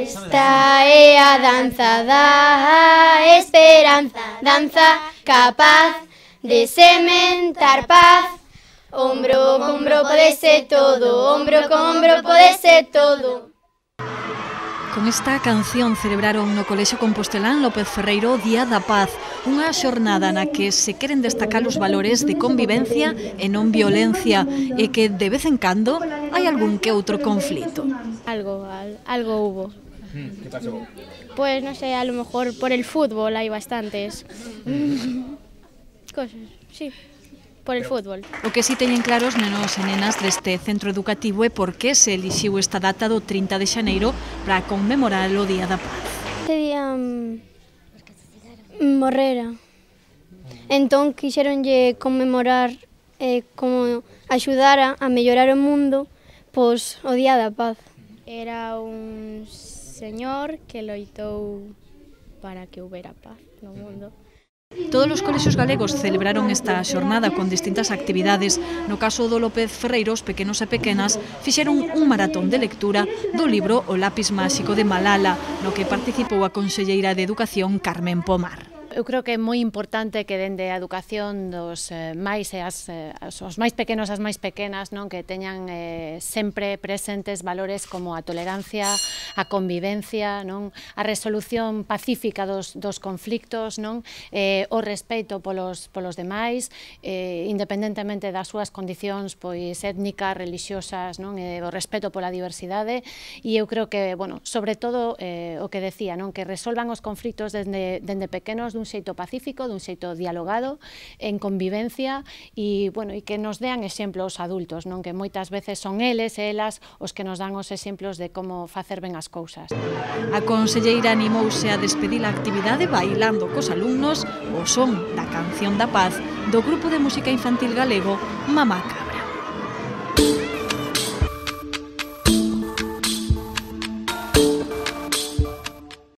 Esta é a danza da esperanza, danza capaz de sementar paz. Ombro con ombro pode ser todo, ombro con ombro pode ser todo. Con esta canción celebraron no Colexio Compostelán López Ferreiro o Día da Paz, unha xornada na que se queren destacar os valores de convivencia e non violencia e que de vez en cando hai algún que outro conflito. Algo hubo. ¿Qué pasó? Pues no sé, a lo mejor por el fútbol hay bastantes cosas, sí. Por el fútbol. O que si teñen claros nenos e nenas deste centro educativo é por que se elixiu esta data do 30 de xaneiro para conmemorar o Día da Paz. Este día morrera. Entón quixeronlle conmemorar como axudar a mellorar o mundo pois o Día da Paz. Era un señor que loitou para que houbera paz no mundo. Todos os colexios galegos celebraron esta xornada con distintas actividades. No caso do López Ferreiro, os pequenos e pequenas fixeron un maratón de lectura do libro O lápis máxico de Malala, no que participou a conselleira de Educación Carmen Pomar. Eu creo que é moi importante que dende a educación dos máis e os máis pequenos e as máis pequenas, non, que teñan sempre presentes valores como a tolerancia, a convivencia, non, a resolución pacífica dos conflictos, non, o respeito polos demais, independentemente das súas condicións pois étnicas, religiosas, non, o respeto pola diversidade, e eu creo que, bueno, sobre todo o que decía, non, que resolvan os conflictos dende pequenos dun xeito pacífico, dun xeito dialogado, en convivencia e, bueno, e que nos dean exemplos adultos, non, que moitas veces son eles e elas os que nos dan os exemplos de como facer ben as cousas. A conselleira animouse a despedir a actividade bailando cos alumnos o son da canción da paz do grupo de música infantil galego Mamaca.